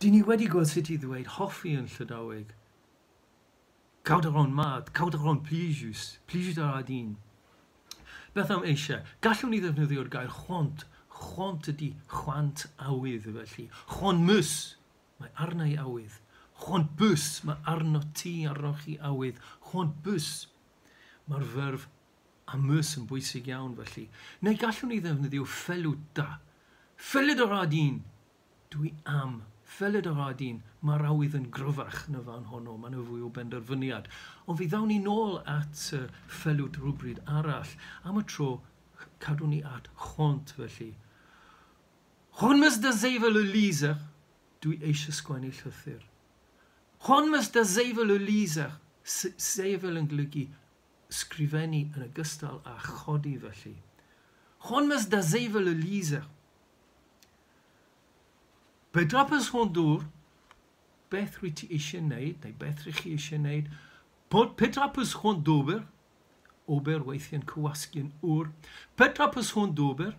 Dyn ni wedi gweld sut i ddweud hoffi yn Llydaweg. Kaout a ran mat, kaout a ran plijus, plijus a ra din. Beth am eisiau? Gallwn ni ddefnyddio'r gair chwant. Chwant ydy chwant awydd felly. Chwant mus, mae arna i awydd. Chwant bus, mae arno ti, arnoch chi awydd. Chwant bus. Mae'r ferf am eus yn bwysig iawn felly. Neu gallwn ni ddefnyddio fellout da. Fellet a ra din. Dwi am. Fellet a ra din. Mae'r awydd yn gryfach yn y fan honno. Mae yna fwy o benderfyniad. Ond fi ddawn ni nôl at fellout rhywbryd arall. Am y tro, cadwn ni at chwant felly. C'hoant 'm eus da sevel ul lizher. Dwi eisiau sgwennu llythyr. C'hoant 'm eus da sevel ul lizher. Sevel yn golygu sgrifennu yn ogystal â chodi felly. C'hoant 'm eus da sevel ul lizher. Petra 'peus c'hoant d'ober? Beth rwyt ti eisiau wneud, neu beth rych chi eisiau wneud? Petra 'peus c'hoant d'ober? Ober weithiau'n cywasgu'n ŵr. Petra 'peus c'hoant d'ober?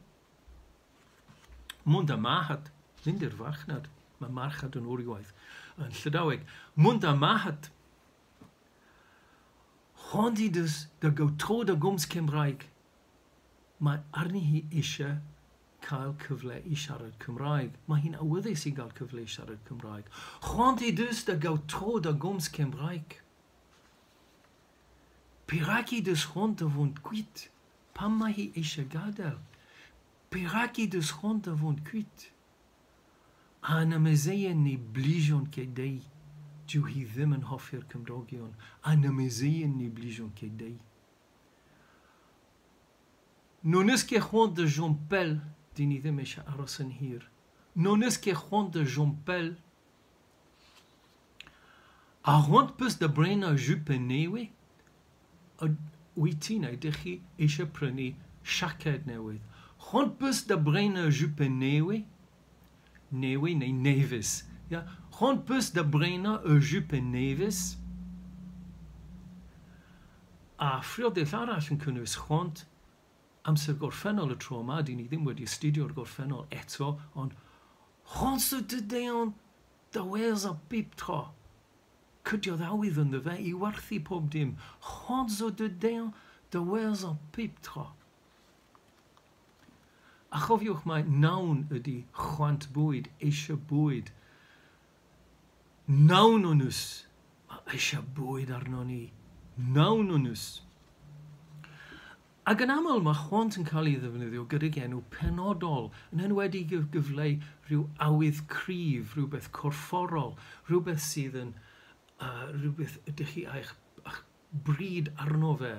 Mont d'ar marc'had, mynd i'r farchnad. Mae marchnad yn wriwaith yn Llydaweg. Mont d'ar marc'had. C'hoant he deus da gaout tro da gomz Cymraeg. Mae arni hi eisiau cael cyfle i siarad Cymraeg. Mae hi'n awyddus i gael cyfle i siarad Cymraeg. C'hoant he deus da gaout tro da gomz Cymraeg. Perak he deus c'hoant da vont kuit? Pam mae hi eisiau gadael? Perak he deus c'hoant da vont kuit? An amezeien ne blijont ket dezhi. Dyw hi ddim yn hoffi'r cymdogion. An amezeien ne blijont ket dezhi. N'hon eus ket c'hoant da chom pell, dyn ni ddim eisiau aros yn hir. N'hon eus ket c'hoant da chom pell. Ha c'hoant 'peus da brenañ jupenn nevez? Wyt ti neu ydych chi eisiau prynu siaced newydd? C'hoant 'peus da brenañ jupenn nevez? Nevez neu nevez. Ya, c'hoant 'peus da brenañ ur jupenn nevez? A phriodell arall yn cynnwys c'hoant, amser gorffennol y tro yma, dyn ni ddim wedi astudio'r gorffennol eto, ond c'hoant zo dezhañ da werzhañ pep tra. Cydiodd awydd ynddo fe i werthu pob dim. C'hoant zo dezhañ da werzhañ pep tra. A chofiwch mai nawn ydy chwant bwyd, eisiau bwyd. Nawn hon eus. Mae eisiau bwyd arno ni. Nawn hon eus. Ac yn aml mae chwant yn cael ei ddefnyddio gydag enw penodol, yn enwedig i gyfleu rhyw awydd cryf, rhywbeth corfforol, rhywbeth sydd yn rhywbeth ydych chi a'ch bryd arno fe.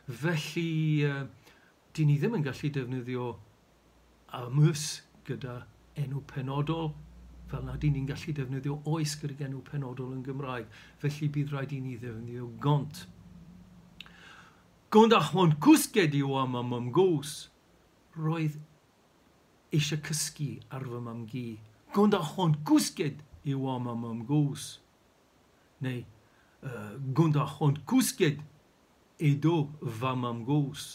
Felly, dyn ni ddim yn gallu defnyddio am eus gyda enw penodol, fel na dyn ni'n gallu defnyddio oes gydag enw penodol yn Gymraeg. Felly bydd rhaid i ni ddefnyddio gant. Gant ar c'hoant kousket e oa ma mamm-gozh. Roedd eisiau cysgu ar fy mam-gu. Gant ar c'hoant kousket e oa ma mamm-gozh. Neu gant ar c'hoant kousket edo va mamm-gozh.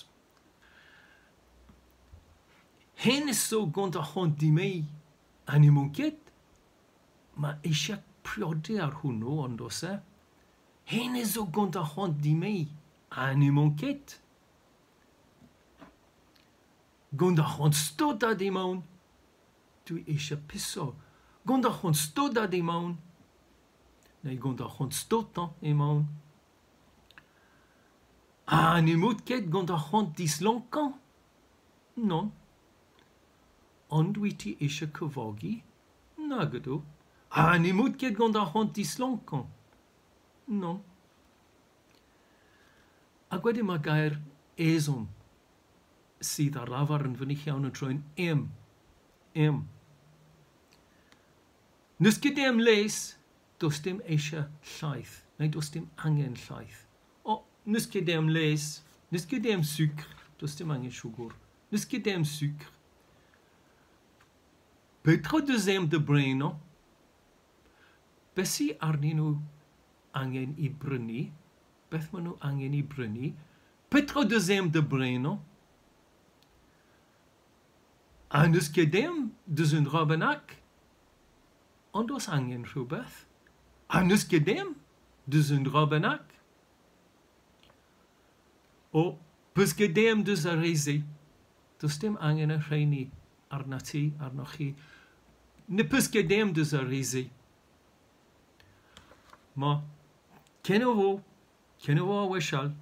Hennezh zo gant ar c'hoant dime'i ha n'emañ ket. Ma eisiau priodi ar hwnnw, ond oes e? Hennezh zo gant ar c'hoant dime'i ha n'emañ ket. Gant ar c'hoant staotat emaon. Dwi eisiau piso. Gant ar c'hoant staotat emaon. Neu gant ar c'hoant staotañ emaon. Ha n'emaout ket gant ar c'hoant dislonkañ? Nann. Ond wyt ti eisiau cyfogi? Nag ydw. Ha n'emaout ket gant ar c'hoant dislonkañ? Nann. Ac wedyn mae gair ezhomm sydd ar lafar yn fynych iawn yn troi'n em. Em. N'eus ket em laezh, does dim eisiau llaeth, neu does dim angen llaeth. O, n'eus ket em laezh, n'eus ket em sukr, does dim angen siwgr. N'eus ket em sukr. Petra deus em da brenañ? Beth sy arnyn nhw angen i brynu? Beth maen nhw angen i brynu? Petra deus em da brenañ? Ha n'eus ket em deus un dra bennak? Ond oes angen rhywbeth? Ha n'eus ket ezhomm deus un dra bennak? O, 'peus ket ezhomm deus ar re-se. Does dim angen y rheini arnat ti, arnoch chi. Ne peus ket ezhomm deus ar re-se. Ma, kenavo, kenavo a wechall.